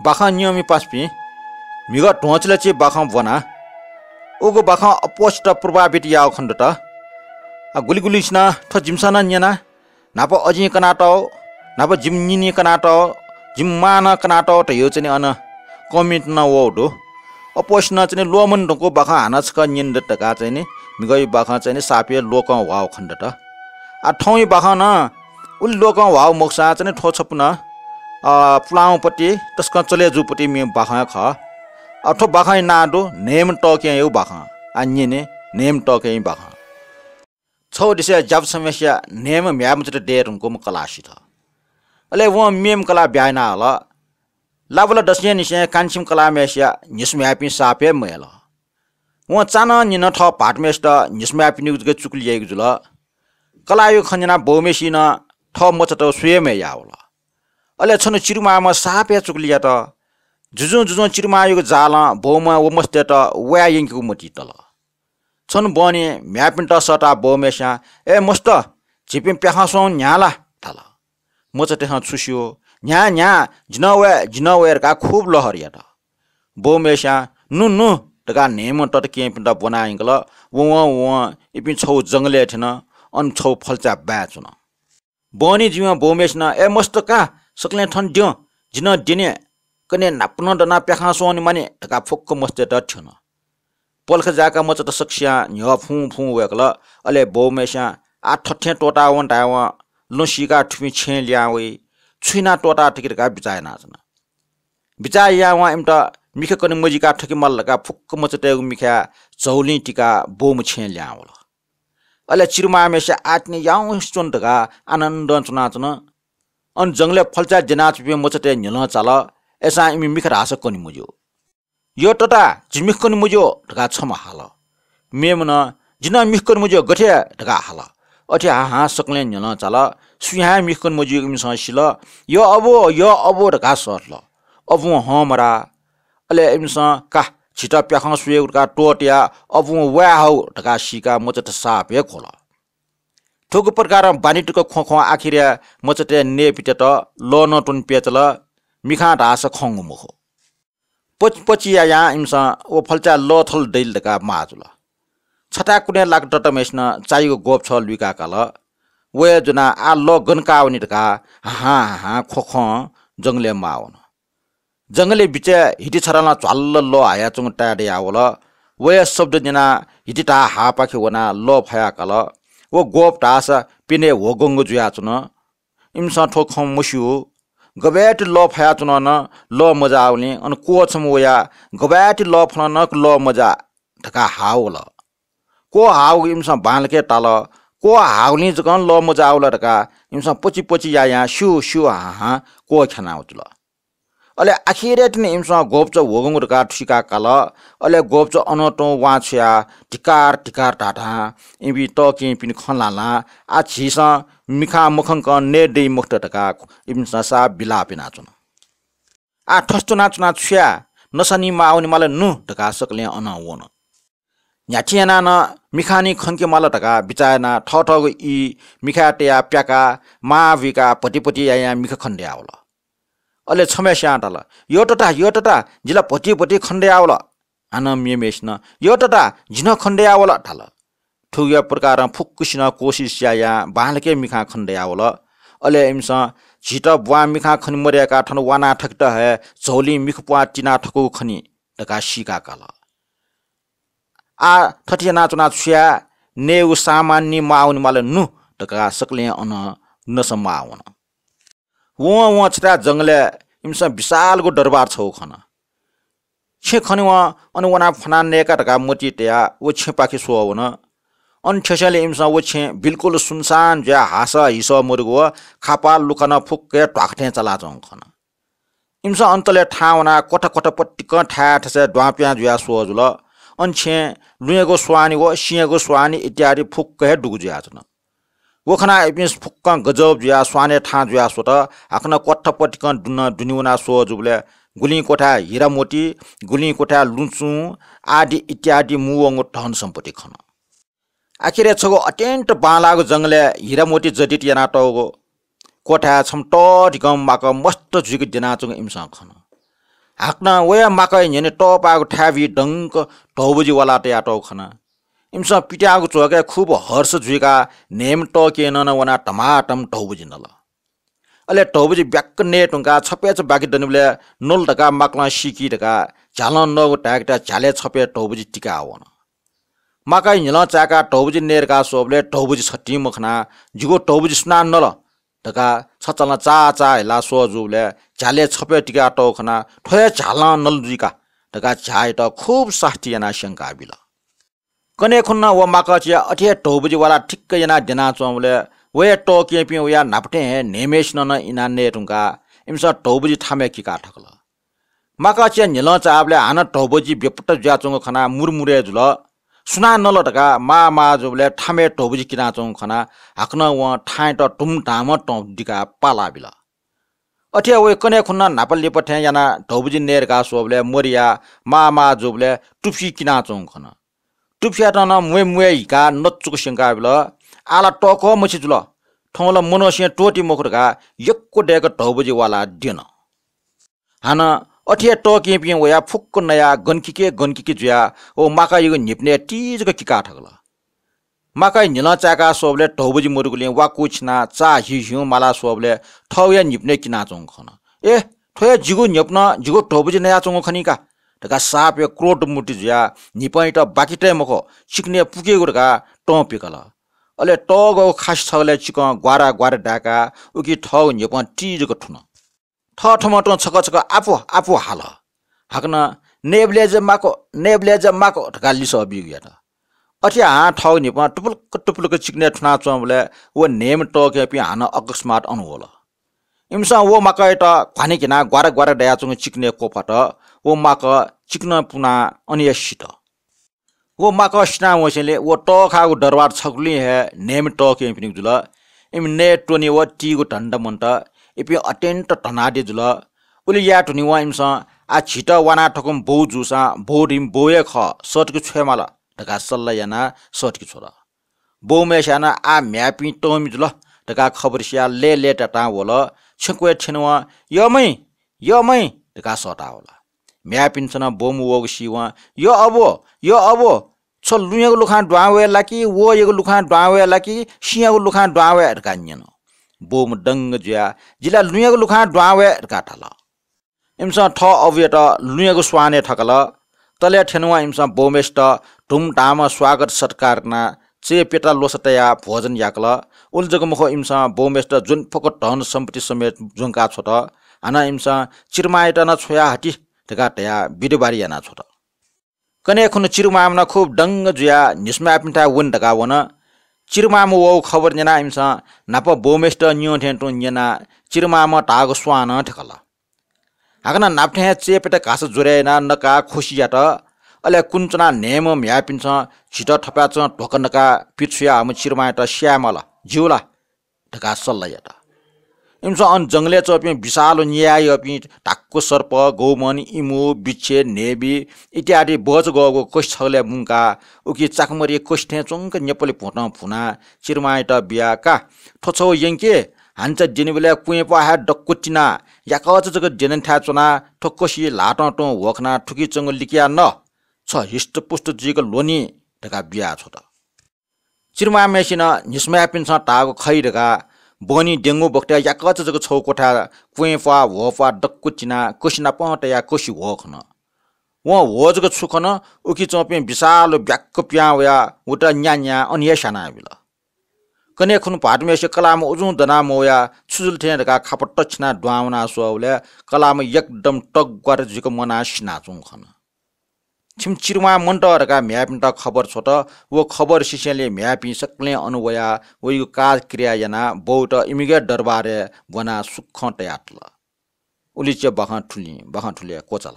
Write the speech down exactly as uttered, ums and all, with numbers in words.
बाखं न्यंमि पासापिं, म्हिगः ध्वंचिलाच्छि बाखं ब्वना। उगु बाखं अप्वःसित प्रभावित याःगु खनेदत। आ, गुलिगुलिसिनं थ्व जिमिसं नं न्यना, न्हापा अजिं कनातःगु, न्हापा जिमि निनिं कनातःगु, जिमि मां नं कनातःगु धयागु चाहिँ नि अन comment नं वःगु दु। अप्वःसिनं चाहिँ नि ल्वःमने धुंकूगु बाखं हानं छकः न्यनेदत धकाः चाहिँ नि म्हिगःया बाखं चाहिँ नि साप हे ल्वकं ह्वाःगु खनेदत। आ, थौंया बाखं नं उलि ल्वकं ह्वाःगु मखुसां चाहिँ नि थ्व छपु नं, अ, पुलांगु पति तसकं चले जूगु पति मेगु बाखं हे खः। अ, थ्व बाखंया नां दु न्हय्म्ह तःकेंया बाखं। आ, न्यने, न्हय्म्ह तःकेंया बाखं। छगू देशय् ज्यापु छम्हय्सिया न्हय्म्ह म्ह्याय्मचा दये धुंकूम्ह कलाः सित। अले वं मेम्ह कलाः ब्याहा याना हल। लाबला दसय् निसें कान्छिम्ह कलाःम्हय्सिया न्हिसुम्ह्याय्पिं साप हे मयल। वं चान्हं निन्हं थः भाःतम्हय्सित न्हिसुम्ह्याय्पिनिगु जक चुकलि याइगु जुल। कलाःयागु खँ न्यनाः बौम्हय्सिनं थः मचात स्वये मया याः वल। अले छन्हु चिरुमाःम्ह साप हे चुकलि यात। जुजुं जुजुं चिरुमाःयागु जालं बौम्हं व मचातय्त वये यंकेगु मतिइ तल। छन्हु बहनी म्ह्याय्पिन्त सःताः बौम्हय्स्यां, "ए मस्त, झीपिं प्याखं स्वंगु न्ह्याः ला?" धाल। मचातय्सं छु स्यू, "न्ह्याः, न्ह्याः, जि नं वये, जि नं वये" धकाः खुब लहर यात। बौम्हय्स्यां, "नु, नु" धकाः न्हय्म्ह तताकेहेँपिन्त ब्वना यंकल। वं वं इपिं छगू जंगलय् थ्यन। अन छगू फल्चा बाय् च्वन। बहनी जुयां बौम्हय्सिनं, "ए मस्त का, सकलें थन द्यँ, जि नं द्यने, कन्हय् न्हापा नं दनाः प्याखं स्वने मानि" धकाः फुक्क मचातय्त थ्यन। पलख जाय्काः मचात सकसियां न्ह्यः फुं फुं वय्कल। अले बौम्हय्स्यां, "आः थथें त्वःतावँ" धायेवं लँ सीकाः थुपिं छेँय् लिहां वइ। छु यानाः त्वःताः थके धकाः बिचाः यानाच्वन। बिचाः यायावं इमित मिखा कने मजुइकाः थके माल धकाः फुक्क मचातय्गु मिखाय् झौलिं तिकाः बौम्ह छेँय् लिहां वल। अले चिरुमाःम्हय्सिया आःतिनि याउँसे च्वन धकाः आनन्दं च्वनाच्वन। अन जंगलय् फल्चाय् द्यनाच्वंपिं मचातय् न्ह्यलं चाल। अय्सां इमि मिखा धाःसा कने मज्यू। "यः तता, जि मिखा कने मज्यू" धकाः छम्हं हाल। मेम्हं, "जि नं मिखा कने मज्यू, गथे?" धकाः हाल। अथे हाहां सकलें न्ह्यलं चाल। सुयां हे मिखा कने मज्यूगु इमिसं सिल। "यः अबु, यः अबु" धकाः सःतल। अबुं हं मधाः। अले इमिसं, "का, झीत प्याखं स्वयेगु" धकाः त्वःतयाः अबुं वये हःगु धकाः सीकाः मचात साप हे ख्वल। थुगु प्रकारं बानी तक ख्वं ख्वं आखिरय् मचातय् नयेपित्यात लः नं त्वने प्यचल, मिखां धाःसा खंगु मखु। पचि पचि यायां इमिसं व फल्चाय् लः थल दइल धकाः माः जुल। छथाय् कुने लाक तताम्हय्सिनं चायागु ग्वःप छः लुइका काल। व हे ज्वनाः आः लः गन काः वनी धकाः हाहां हाहां ख्वख्वं जंगलय् माः वन। जंगलय् बिचय् हिति छधालं झ्वाल्ल लः हायाच्वंगु ताये दयावल। व हे शब्द न्यनाः हिति धाः हाःपाखे वनाः लः फयाः काल। व ग्वःप धाःसा प्यन्हय् ह्वगंगु जुयाच्वन। इमिसं थ्व खँ मस्यू। गबय्ति लः फयाच्वन नं लः मजाःवलिं अन क्वः छम्ह वयाः गबय्ति लः फल नं लः मजाः धकाः हाः वल। क्वः हाःगु इमिसं बांलाक ताल। क्वः हाःगुलिं जकं लः मजाःवल धकाः इमिसं पचि पचि यायां स्यू स्यू हाहां क्वः ख्यानाः वल। अले आखिरय् तिनि इमिसं ग्वःपच ह्वगंगु धकाः थुइका काल। अले ग्वःपच अनं तुं वां छुयाः धिक्कार धिक्कार धाधां इपिं तःकेहेँपिनि खँ ल्हां ल्हां, "आः झीसं मिखां मखंकं नये दइ मखुत" धकाः इमिसं साप बिलाप यानाच्वन। "आः थथे च्वनाच्वनाः छु याये, नसा नी माः वनेमाल नु" धकाः सकलें अनं वन। न्ह्याथे यानाः नं मिखां नी खंके माल धकाः बिचाः यानाः थःथःगु ई मिखाय् तयाः प्याकाः माः बुइकाः भति भति यायां मिखा खने दयावल। अले छम्हय्स्यां धाल, "यः तता, यः तता, जि ला भति भति खने दयावल।" हानं मेम्हय्सिनं, "यः तता, जि नं खने दयावल" धाल। थुगु प्रकारं फुक्कसिनं कोसिस यायां बांलाक मिखां खने दयावल। अले इमिसं झीत ब्वां मिखां खने मदय्काः थन वानाः थकित हे झौलिं मिखा प्वाः तिनाः थकूगु खनी धकाः सीका काल। "आः थथे यानाच्वनाः छु याये, नयेगु सामान नी माः वनेमाल नु" धकाः सकलें अनं नसा माः वन। वं वं छथाय् जंगलय् इमिसं विशालगु दरबार छगू खन। छेँ खनेवं अन वनाः फ्वनाः नयेका धकाः मतिइ तयाः व छेँपाखे स्वः वन। अन थ्यंसेंलि इमिसं व छेँ बिल्कुल सुनसान जुयाः हासः हिसः मदुगु व खापा लुखा नं फुक्क हे ध्वाखा थें चालाच्वंगु खन। इमिसं अन तले थाहां वनाः क्वथा क्वथा पतिकं थाय् थासय् द्वां प्यां जुयाः स्वः जुल। अन छेँय् लुँयेगु स्वांनि व सिँयेगु स्वांनि इत्यादि फुक्क हे दुगु जुयाच्वन। व खनाः इपिं फुक्कं गजब जुयाः स्वानय् थाहां जुयाः स्वत। हाकनं क्वथा पतिकं दुने दुने वनाः स्वः जूबलय् गुलिं क्वथाय् हिरामोती, गुलिं क्वथाय् लुँचुं आदि इत्यादि मुंवंगु धन सम्पत्ति खन। आखिरय् छगू अत्यन्त बांलाःगु जंगलय् हिरामोती जडित यानातःगु क्वथाय् छम्ह तःधिकं माकः मस्त जुइक द्यनाच्वंगु इमिसं खन। हाकनं वया माकाया न्ह्यःने तःपाःगु थाय् बी दंक धौबजि वाला तयातःगु खना। इमिसं पित्याःगु झ्वःकय् खुब हर्ष जुइकाः न्हय्म्ह तःकेहेँनं नं वनाः धमाधम धौबजि नल। अले धौबजि ब्याक्क नये धुंकाः छप्यच बाकी दनिबलय् नल धकाः माकलं सीकी धकाः झ्यालं नःगु धाय्केत झ्यालय् छप्यच धौबजि तिकाः वन। माकाया न्हिलं चाय्काः धौबजि नये धकाः स्वःबलय् धौबजि छतिं मखनाः जिगु धौबजि सुनां नल धकाः छचालं चाः चाः हिलाः स्वः जूबलय् झ्यालय् छप्यच तिकातःगु खनाः थ्व हे झ्यालं नल जुइ का धकाः झ्याःयात खुब सास्ती यानाः स्यंकाबिल। कन्हय् खुन्हु व माकःचिया अथे हे धौबजि वाला ठिक्क यानाः द्यनाच्वंबलय् वया तःकेहेँपिं वया न्हापा थें हे न्हय्म्हय्सिनं नं इनाः नये धुंकाः इमिसं धौबजि थामय् किकाः थकल। माकःचिया न्हिलं चाःबलय् हानं धौबजि बेपत्ता जुयाच्वंगु खनाः मुरुमुरय् जुल। सुनां नल धकाः माः माः जूबलय् थामय् धौबजि किनाच्वंगु खनाः हाकनं वं थाँयात धुमधामं तं दिकाः पालाबिल। अथे हे वया कन्हय् खुन्हु न्हापा लिपा थें यानाः धौबजि नये धकाः स्वःबलय् मरियाः माः माः जूबलय् तुफि किनाच्वंगु खन। तुफियात नं म्वय् म्वय् हिकाः नचुक स्यंकाबिल। आः ला तःकः मछि जुल। थौं ला मनूसिं त्वःती मखु धकाः यक्व दय्क धौबजि वालाः द्यन। हानं अथे हे तःकेहेँपिं वयाः फुक्क नयाः गनकिके गनकिके जुयाः व माकायागु न्हिपनय् ति जक किकाः थकल। माकाया न्हिलं चाय्काः स्वःबलय् धौबजि मदुगुलिं वा कुछिनाः चाः हिउ हिउँ मालाः स्वःबलय् थःगु हे न्हिपनय् किनाच्वंगु खन। ए, थ्व हे जिगु न्हिपनं जिगु धौबजि नयाच्वंगु खनी का धकाः साप हे क्रोध मूर्ति जुयाः न्हिपंयात बाकि तये मखु, चिकनय् पुकेगु धकाः तं पिकल। अले तःगःगु खासि छगलय् चिकं ग्वारा ग्वारा दाय्काः उकी थःगु न्हिपं ति जक थुन। थःथम्हं तुं छकः छकः आपु आपु हाल। हाकनं नयेबलय् जक माकु, नयेबलय् जक माकु धकाः लिसः बीगु यात। अथे हां थःगु न्हिपं टुपुलुक टुपुलुक चिकनय् थुनाच्वंबलय् व न्हय्म्ह तःकेहेँपिं हानं अकस्मात अन वल। इमिसं व माकःयात घ्वाने घिनाः ग्वारा ग्वारा दयाच्वंगु चिकनय् क्वफात। व माकः चिकनं पुनाः अन हे सित। व माकः सिनावंसेंलि व तःखाःगु दरबार छकुलिं हे न्हय्म्ह तःकेहेँपिनिगु जुल। इमि नये त्वने व तीगु धन्दा मन्त। इपिं अत्यन्त धनाढ्य जुल। उलि याये धुनेवं इमिसं आः झीत वाना थकूम्ह बौ जूसां बौ धइम्ह बौ हे खः, सःतके छ्वयेमाल धकाः सल्लाह यानाः सःतके छ्वल। बौम्हय्सिनं आः म्ह्याय्पिं तःमि जुल धकाः खबर सियाः लय्‌लय्‌तातां वल। छेँकुय् थ्यनेवं यःमि, यःमि धकाः सःता वल। म्ह्याय्‌पिन्सं नं बौम्ह वःगु सीवं यः अबु, यः अबु, छ लुँयागु लुखां दुहां वये ला कि, वःयागु लुखां दुहां वये ला कि, सिँयागु लुखां दुहां वये धकाः न्यन। बौम्ह दंग जुयाः जि ला लुँयागु लुखां दुहां वये धकाः धाल। इमिसं थः अबुयात लुँयागु स्वानय् थकल। तलय् थ्यनेवं इमिसं बौम्हय्सित धुमधामं स्वागत सत्कार यानाः चय्‌प्यता ल्वसा तयाः भोजन याकल। उलि जक मखु, इमिसं बौम्हय्सित ज्वने फुक्क धन सम्पत्ति समेत ज्वंका छ्वत। हानं इमिसं चिरमांयात नं छ्वया हति धकाः धयाः बिदाबारी याना छ्वत। कन्हय् खुन्हु चिरमांम्ह नं खुब दंग जुयाः न्हिसुमाय्‌पिन्थाय् वने धकाः वन। चिरमांम्ह वःगु खबर न्यनाः इमिसं न्हापा बौम्हय्सित न्यं थें तुं न्यनाः चिरमांम्हं धाःगु स्वानं थकल। हाकनं न्हापा थें हे चय्‌प्यता घासा ज्वरय् यानाः नकाः खोसि यात। अले कुने च्वनाः न्हय्म्ह म्ह्याय्‌पिन्सं झीत थपाय्‌चं ध्वाखा नकाः पिछुया हःम्ह चिरमांयात स्यायेमाल, ज्यू ला धकाः सल्लाह यात। इमिसं अन जंगलय् च्वंपिं विशाल व न्याय् यःपिं धाक्व सर्प, गौमन, इमु, बिच्छे, न्हेबी इत्यादि बचगःगु कसि छगलय् मुंकाः उकी चाकमरी कसि थें च्वंक नेपालि भुतं भुनाः चिरमांयात बियाः का, थ्व छगू यंके, हान्चा द्यनीबलय् क्वँय्‌प्वाः हे दक्व तिनाः याकःचा जक द्यनेथाय् च्वनाः थ्व कसिइ ल्हातं तुं ह्वः खनाः थुकी च्वंगु लिकयाः न, छ हिष्टपुष्ट जुइक ल्वनी धकाः बियाछ्वत। चिरमांम्हय्सिनं न्हिसुमाय्‌पिन्सं धाःगु खइ धकाः बहनी द्यंगु बखतय् याकःचा जक छगू क्वथाय् क्वँय्‌प्वाः ह्वःप्वाः दक्व तिनाः कसि नापं तयाः कसि ह्वः खन। वं ह्वः जक छु खन, उकी च्वंपिं विशाल ब्याक्क पिहां वयाः उत न्यान्याः अन हे स्यानाबिल। कन्हय् खुन्हु भाःतम्हय्सित कलाःम्ह उजुं दना मवयाः छु जुल थें धकाः खापा तछिनाः दुहां वनाः स्वःबलय् कलाःम्ह एकदम तग्वार जुइक म्वानाः सिनाच्वंगु खन। छिमि चिरमां मन्त धकाः म्ह्याय्‌पिन्त खबर छ्वत। व खबर सिसेंलि म्ह्याय्‌पिं सकलें अन वयाः वइगु काज क्रिया यानाः बौत इमिगु दरबारय् ब्वनाः सुखं तयातल। उलिच्या बाखं थुलिं, बाखं थुलि हे क्वचाल।